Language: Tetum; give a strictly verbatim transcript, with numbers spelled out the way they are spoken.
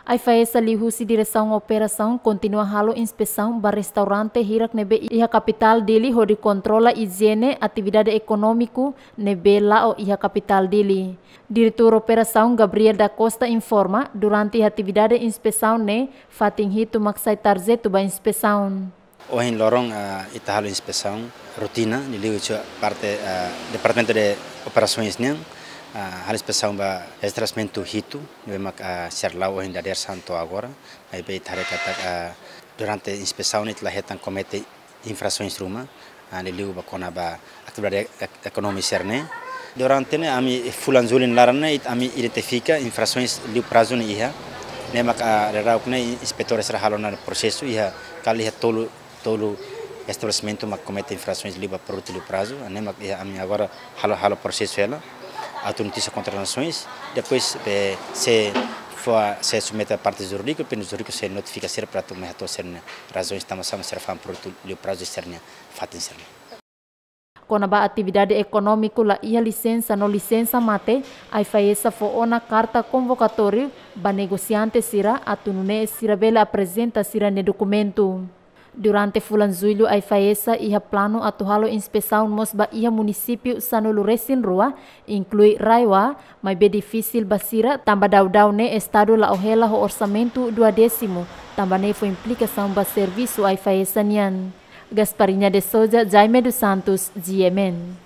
AIFAESA liuhusi Diresaun Operasaun kontinua halo inspesaun ba restaurante hirak ne'ebé iha kapitál Dili hodi kontrola ijiene atividade ekonómiku ne'ebé la'o iha kapitál Dili. Diretór Operasaun Gabriel da Costa informa, durante atividade inspesaun ne'e, fatin hitu mak sai tarjetu ba inspesaun. Ohin loron, ah, ita halo inspesaun rotina, liuliu iha parte, ah, Departamentu de Operasoens nian, ah, halo inspesaun ba estabelesimentu hitu, ne'ebé mak, ah, sira la'o ohin dadeer-saan to'o agora, maibé ita haree katak, ah, durante inspesaun ne'e ita la hetan komete infrasoens ruma, ah, liuliu ba kona-ba atividade ek-, ekonomia sira-ne'e. Durante ne'e ami fulan Jullu nia laran ne'e, it-, ami identifika infrasoens liu prazu ne'e iha. Ne'e mak, ah, daudauk ne'e inspetór sira halo ona prosesu iha, kala iha tolu, tolu estabelesimentu mak komete infrasoens liu ba produtu liu prazu. Ne'e mak iha ami agora halo, halo prosesu hela. Atu notísia kontra nasoens. Depois, eh, se fó, se submete ba parte jurídika, parte jurídika sei notifika sira para atu mai hato'o sira-nia razaun tanba sá mak sira fa'an produtu liu prazu sira-nia fatin sira-ne'e. Kona-ba atividade ekonómiku la iha lisensa no lisensa mate, AIFAESA fó ona karta konvokatóriu ba negosiante sira atu nune'e sira bele aprezenta sira-nia dokumentu. Durante fulan Jullu AIFAESA iha planu atu halo inspesaun mós ba iha munisípiu sanulu-resin-rua, inklui RAEOA, maibé difisil ba sira tanba daudaun ne'e estadu la'o hela ho orsamentu duodésimu, tanba ne'e fó implikasaun ba servisu AIFAESA nian. Gasparinha de Souza, Jaime dos Santos, G M N.